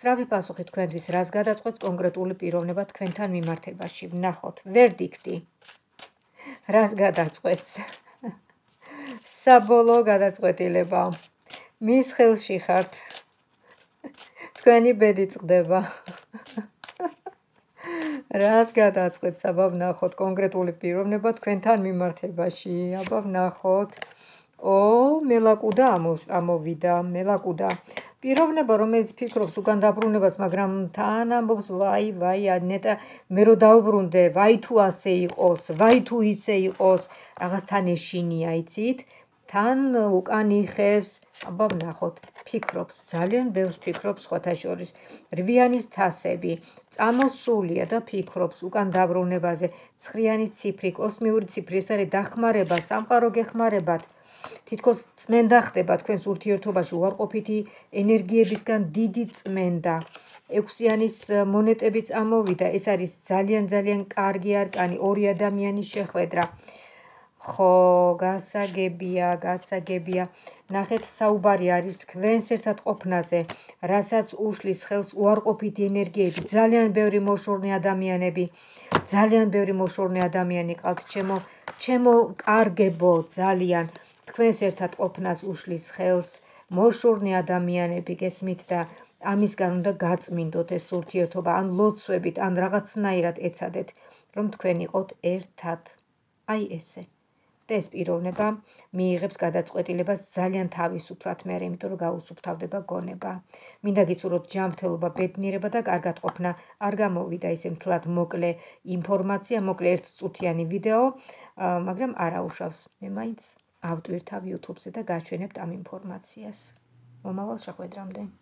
სწრაფი პასუხი თქვენთვის რას გადაწყვეტს კონკრეტული პიროვნება თქვენთან მიმართებაში. ვნახოთ. ვერდიქტი. რას გადაწყვეტს? საბოლოო გადაწყვეტილება. მის ხელში ხართ. თქვენი ბედი წყდება. რას გადაწყვეტს? აბა ვნახოთ კონკრეტული პიროვნება თქვენთან მიმართებაში. აბა ვნახოთ. მელაკუდა ამოვიდა. მელაკუდა. პიროვნება, რომელიც ფიქრობს უკან დაბრუნებას, მაგრამ თან ამბობს, ვაი, ნეტა მე რო დავბრუნდე, ვაი თუ ასე იყოს, ვაი თუ ისე იყოს, რაღაცთან ეშინია, იცით? თან უკან იხევს, აბა ვნახოთ, ფიქრობს, ძალიან ბევრს ფიქრობს სხვათა შორის. რვიანის თასები, წამოსულია და ფიქრობს უკან დაბრუნებაზე. ცხრიანი ციფრი, კოსმიური ციფრი, ეს არის დახმარება, სამყარო გეხმარებათ. თითქოს წმენდა ხდება თქვენს ურთიერთობაში, უარყოფითი ენერგიებისგან დიდი წმენდა. ექვსიანის მონეტებიც ამოვიდა, ეს არის ძალიან კარგი არკანი, ორი ადამიანის შეხვედრა. ხო, გასაგებია. ნახეთ, საუბარი არის თქვენს ერთად ყოფნაზე, რასაც უშლის ხელს უარყოფითი ენერგიები, ძალიან ბევრი მოშორნე ადამიანი ყავთ, ჩემო კარგებო, ძალიან თქვენს ერთად ყოფნას უშლის ხელს მოშორნე ადამიანები, გესმით და ამისგან უნდა გაწმინდოთ ეს ურთიერთობა, ან ლოცვებით, ან რაღაცნაირად ეცადეთ, რომ თქვენ იყოთ ერთად. აი ესე. და ეს პიროვნება მიიღებს გადაწყვეტილებას ძალიან თავისუფლად მერე, იმიტომ რომ გაუსუფთავდება გონება. მინდა გიცუროთ ჯანმრთელობა, ბედნიერება და კარგად ყოფნა. არ გამოვიდა ისე მთლად მოკლე ინფორმაცია, მოკლე ერთწუთიანი ვიდეო, მაგრამ არ აუშავს. მე მაინც ავტვირთავ YouTube-ზე და გაჩვენებთ ამ ინფორმაციას. მომავალ შეხვედრამდე.